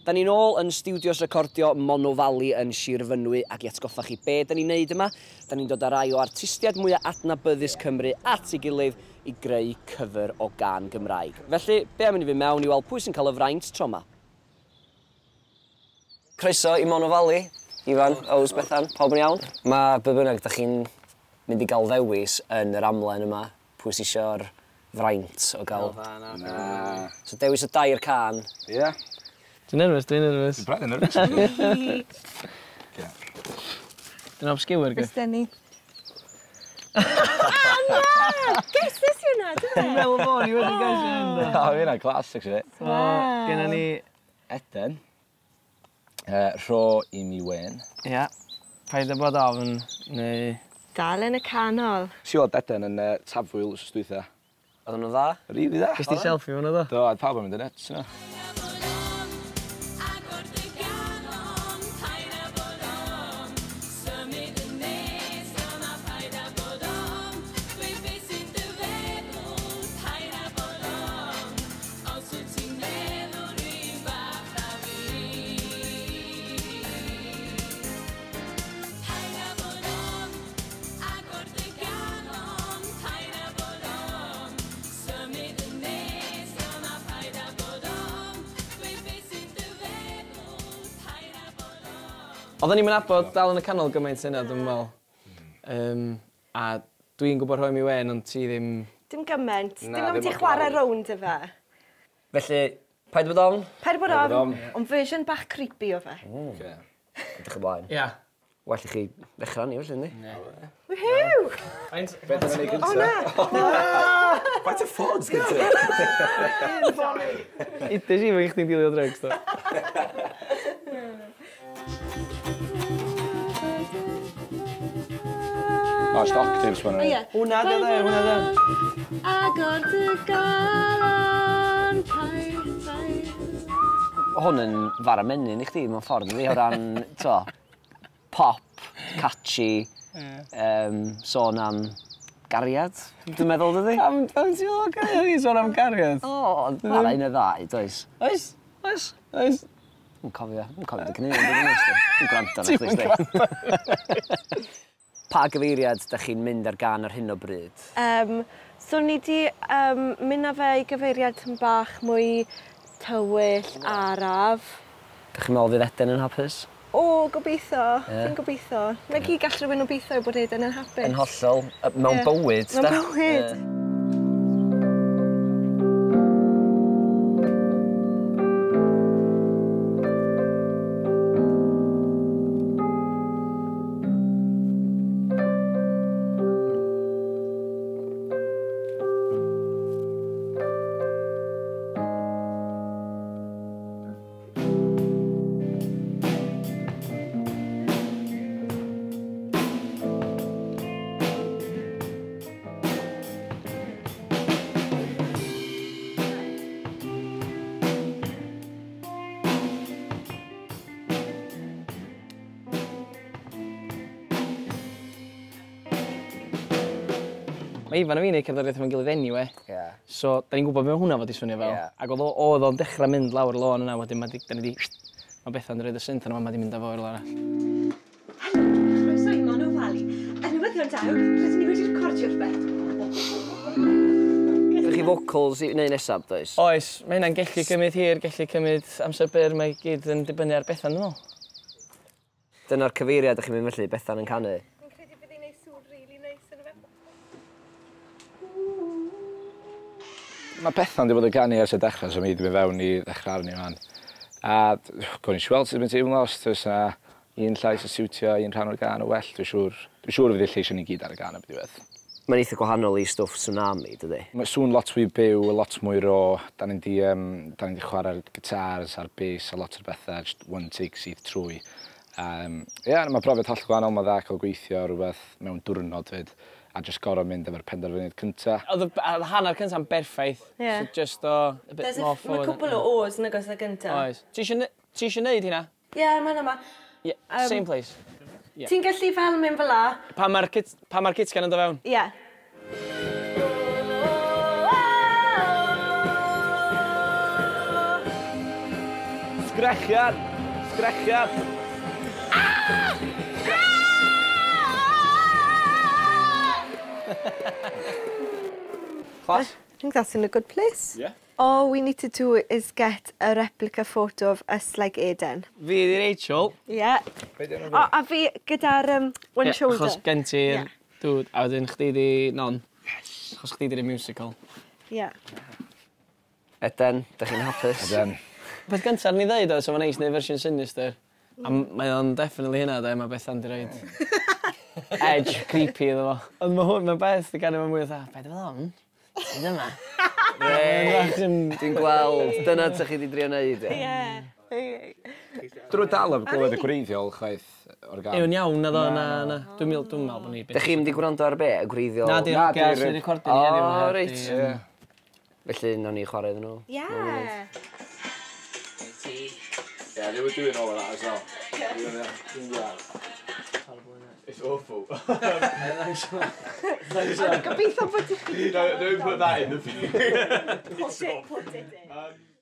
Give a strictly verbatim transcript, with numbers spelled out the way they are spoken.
Da ni'n ôl yn stiwdios recordio Monnow Valley yn Sir Fynwy ac i atgoffa chi be da ni'n neud yma, da ni'n dod â rai o artistiaid mwyaf adnabyddus Cymru at ei gilydd i greu cyfer o gân Gymraeg. Felly, be am i ni fynd mewn i weld pwy sy'n cael y fraint tro 'ma? Croeso i Monnow Valley, Ifan, Ows, Bethan, pawb yn iawn? Mae be bynnag da chi'n mynd i gael ddewis yn yr amlen yma, pwy sy isio'r fraint o gael... Na, na. So dewis y dair cân. Ie. Dwi'n nervous, dwi'n nervous. Dwi'n braidd yn nervous. Dwi'n obscure, gwe. Fes ni. Ah, na! Guesses yw na, dwi'n Dwi'n meddwl bod ni wedi gesio hyn, do. O, fi hynna'n classic, actually. So, genna ni... Eden. Rho i mi wen. Ia. Paid â bod ofn, neu... Dal yn y canol. Si weld Eden yn Tafwyl wsos dwytha. Oedden nhw'n dda? Rili dda. Ges ti selfie fan o, do? Do, oedd pawb yn mynd yn nuts, yna. Oedden ni'm yn nabod Dal yn y Canol gymaint yna, dwi'n meddwl. Um, a dwi'n gwybod Rhoi Mi Wen, ond ti ddim... Dim gymaint. Dim gymaint i chwarae rownd y fe. Felly, paid bod ofn? Paid bod ofn, ond version bach creepy o fe. Mm. Okay. Edrych ymlaen. Ia. Well i chi ddechrau ni, felly, yndi? Woohoo! Beth yn ei gynta? O na! Faint o ffôns gynta? Udes i fo i chdi'n dilio drugs, do. O, just octaves ma'n rhaid. Hwna di o dde, hwna di o. Agor dy galon, paid, paid. Hwn yn fara menyn i chdi mewn ffordd, yndi, o ran, t'o, pop, catchy, um, sôn am gariad, dwi'n meddwl, dydi? Pam, pam ti'n meddwl gariad? Ni'n sôn am gariad? O, mae'na un neu ddau, does? Oes? Oes. Oes. Dwi'n cofio, dwi'n cofio dy gynnu, dwi'n gwrando arna chdi, Ti'm yn gwrando. Pa gyfeiriad da chi'n mynd ar gân ar hyn o bryd? Um, so ni di um, mynd â fe i gyfeiriad yn bach mwy tywyll, araf. Da chi'n meddwl fydd Eden yn hapus? O, gobeithio. Yeah. Fi'n gobeithio. Na gyd gall rhywun obeithio bod Eden yn hapus. Yn hollol. Mewn yeah. bywyd, Mewn bywyd. Yeah. Mae Ifan a fi'n neud cerddoriaeth efo'n gilydd anyway. Yeah. So, da ni'n gwybod be mae hwnna fod i swnio fel. Yeah. Ac oedd oedd o'n dechrau mynd lawr y lôn yna, wedyn mae di, da ni di... Mae Bethan yn rhoid y synth yna, mae di mynd â fo i'r lôn arall. Helo, croeso i Monnow Valley. Yn newyddion da, rydyn ni wedi recordio rhywbeth. Ydych chi vocals i wneud nesaf, does? Oes, mae hynna'n gallu cymryd hir, gallu cymryd amser byr, mae gyd yn dibynnu ar Bethan, dwi'n meddwl. Dyna'r cyfeiriad ydych chi'n mynd felly, Bethan yn canu? Fi'n credu bydd hi'n neud sŵn really neis yn y fe. Mae Bethan wedi bod yn canu ers y dechrau, so mi wedi mynd fewn i ddechrau arni fan. A gwni i weld sut mae'n teimlo, os oes yna un llais yn siwtio, un rhan o'r gân yn well, dwi'n siŵr, dwi'n siŵr fydd y lleisiau ni gyd ar y gân y diwedd. Mae'n eitha gwahanol i stwff Tsunami, dydy? Mae sŵn lot fwy byw, lot mwy raw. Da ni'n di, um, da ni di chwarae'r gitars a'r bass a lot o'r bethau, just one take syth trwy. Um, yeah, mae profiad holl gwahanol, mae dda cael gweithio rhywbeth mewn diwrnod fyd, a just gorfod mynd efo'r penderfyniad cynta. Oedd y hanner cynta'n berffaith, yeah. So just o a bit more forward. Mae cwpl o o's yn agos y gynta. Oes. Ti eisiau neud hynna? Ie, yeah, mae'n yma. Yeah, um, same place. Yeah. Ti'n gallu fel mynd fel la? Pa mae'r kit, pa mae'r kitgan yn dod fewn? Ie. Yeah. Sgrechian! Sgrechian! Ah! Class? I think that's in a good place. Yeah. All we need to do is get a replica photo of us like Eden. Fi 'di Rachel. Yeah. O, a fi gyda'r um, one Ie, shoulder. Achos gen ti'r Ie. dude, a wedyn chdi 'di Non. Yes. Achos chdi 'di'r musical. Yeah. Eden, da chi'n hapus? Eden. Peth gyntaf ni ddeud oedd, so mae'n neis neud fersiwn sinister. A m- mae o'n definitely hynna, de, mae Bethan di roid edge creepy iddo fo. Ond mae hwn, mae Beth di ganu fo mwy fatha, be di fel hwn? Beth yma? Reit, dwi'n gweld. Dyna ty chi di drio neud, ie. Yeah. Drwy dal am glywed y gwreiddiol chwaith o'r gan. Yw'n iawn, na ddo, na, na. Dwi'n meddwl, dwi'n meddwl bod ni... Da chi'n mynd i gwrando ar be? Y gwreiddiol? Na, di'r Na, hogia di'r- sy'n recordio ni heddiw. O, heb reit. di, Ie. yym, Felly, nawn ni chwarae iddyn nhw. Yeah. Yeah, they were doing all of that as well. Yeah. It's awful. Gobeithio bod ti... Don't, don't put that in the video. Put it, put it in.